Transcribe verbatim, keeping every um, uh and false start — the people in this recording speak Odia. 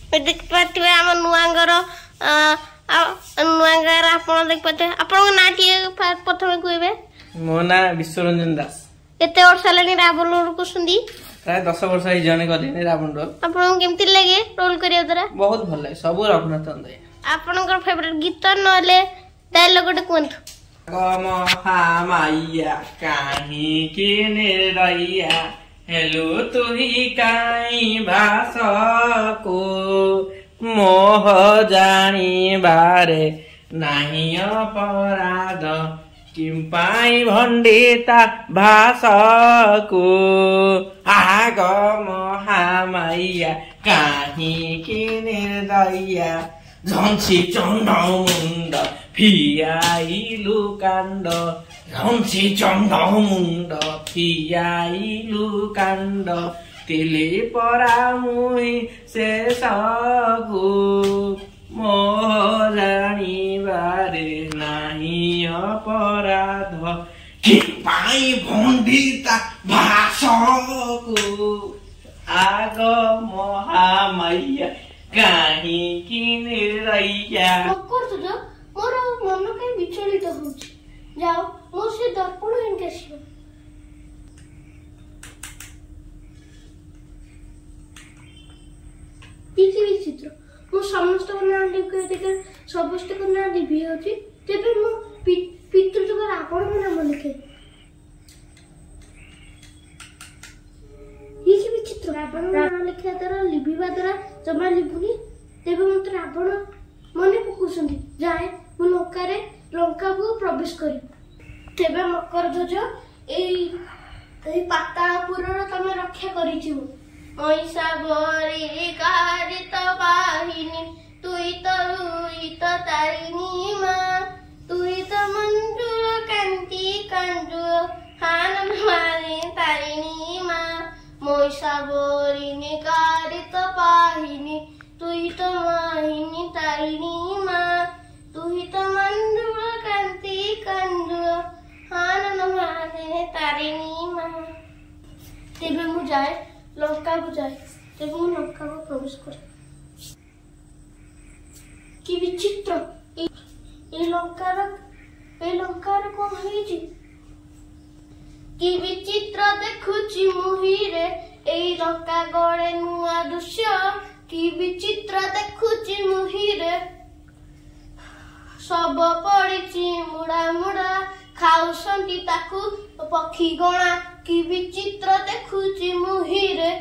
ଦେଖିପାରୁଥିବେ ଆମ ନୂଆଙ୍କର ନୂଆ ଗାଁରେ ଆପଣ ଦେଖିପାରୁଥିବେ। ଆପଣଙ୍କ ନାଁ ଟିକେ ପ୍ରଥମେ କହିବେ? ମୋ ନାଁ ବିଶ୍ୱରଞ୍ଜନ ଦାସ। କେତେ ବର୍ଷ ହେଲାଣି ରାବଣ ରୋଲ କରୁଛନ୍ତି? ପ୍ରାୟ ଦଶ ବର୍ଷ ହେଇଯିବଣି କଲିଣି ରାବଣ ରୋଲ। ଆପଣଙ୍କୁ କେମିତି ଲାଗେ ରୋଲ କରିବା ଦ୍ୱାରା? ବହୁତ ଭଲ ଲାଗେ, ସବୁ ରଘୁନାଥଙ୍କ ଦୟା। ଆପଣଙ୍କର ଫେଭରେଟ ଗୀତ ନହେଲେ ଡାଇଲଗ ଗୋଟେ କୁହନ୍ତୁ। ମହାମାଇଆ କାହିଁକି ନିର୍ଦୟା ହେଲୁ ତୁହି କାଇଁ ଭାସକୁ, ମୋହ ଜାଣିବାରେ ନାହିଁ ଅପରାଧ, କିମ୍ପାଇଁ ଭଣ୍ଡିତା ଭାସକୁ। ଆଗ ମହାମାଇଆ କାହିଁକି ନିର୍ଦୟା, ଝଞ୍ଚି ଚଣ୍ଡ ମୁଣ୍ଡ ଫିଆଇଲୁ କାଣ୍ଡ, ଝଞ୍ଚି ଚଣ୍ଡ ମୁଣ୍ଡ ଫିଆଇଲୁ କାଣ୍ଡ, ତିଲି ପରା ମୁହିଁ ଶେଷକୁ, ମୋହ ଜାଣିବାରେ ନାହିଁ ଅପରାଧ, କି ପାଇଁ ଭଣ୍ଡିତା ଭାସକୁ। ଆଗ ମହାମାଇଆ କାହିଁକି ନିର୍ଦୟା। ମୋର ମନ କାହିଁ ବିଚଳିତ ହଉଛି। ଯାଅ, ମୁଁ ସେ ଦର୍ପଣ ଆଣିକି ଆସିବ। କିଛି ବିଚିତ୍ର, ମୁଁ ସମସ୍ତଙ୍କ ନାଁ ଲେଖେ, ସମସ୍ତଙ୍କ ନାଁ ଲିଭି ଯାଉଛି। ତେବେ ମୁଁ ପିତୃଯୁଗରେ ଆପଣଙ୍କ ନାମ ଲେଖେ। ଇଏ କି ବିଚିତ୍ର, ରାବଣ ନାଁ ଲେଖିବା ଦ୍ୱାରା ଲିଭିବା ଦ୍ୱାରା ଜମା ଲିଭୁନି। ତେବେ ମତେ ରାବଣ ମନେ ପକାଉଛନ୍ତି। ଯାଏ, ମୁଁ ଲଙ୍କାରେ ଲଙ୍କାକୁ ପ୍ରବେଶ କରିବି। ତେବେ ମକର ଧ୍ୱଜ, ଏଇ ଏଇ ପାତାଳପୁରର ତମେ ରକ୍ଷା କରିଥିବ। ମହିଷାବରୀ କାରିତ ବାହିନୀ, ତୁଇ ତ ରୁଇ ତ ତାରିଣୀ ମା, ତୁଇ ତ ମଞ୍ଜୁଳ କାନ୍ତି କାଞ୍ଜୁଳ ହାନ ମାରେ ତାରିଣୀ ମା। ମହିଷାବରୀ କାରିତ ବାହିନୀ, ତୁଇ ତ ମାହିନୀ ତାରିଣୀ ମା, ତୁଇ ତ ମଞ୍ଜୁଳ କାନ୍ତି କାଞ୍ଜୁଳ ହାନନ ମାରେ ତାରିଣୀ ମା। ତେବେ ମୁଁ ଯାଏ, ଲଙ୍କାକୁ ଯାଏ। ତେବେ ମୁଁ ଲଙ୍କାକୁ ପ୍ରବେଶ କରେ। କି ବିଚିତ୍ର, ଏଇ ଲଙ୍କାର ଏଇ ଲଙ୍କାର କଣ ହେଇଛି? କି ବିଚିତ୍ର ଦେଖୁଛି ମୁହିରେ, ଏଇ ଲଙ୍କା ଗଳେ ନୂଆ ଦୃଶ୍ୟ। କି ବିଚିତ୍ର ଦେଖୁଛି ମୁହିରେ, ଶବ ପଡ଼ିଛି ମୁଡା ମୁଡା, ଖାଉଛନ୍ତି ତାକୁ ପକ୍ଷୀ ଗଣା। କି ବିଚିତ୍ର ଦେଖୁଛି ମୁହିରେ।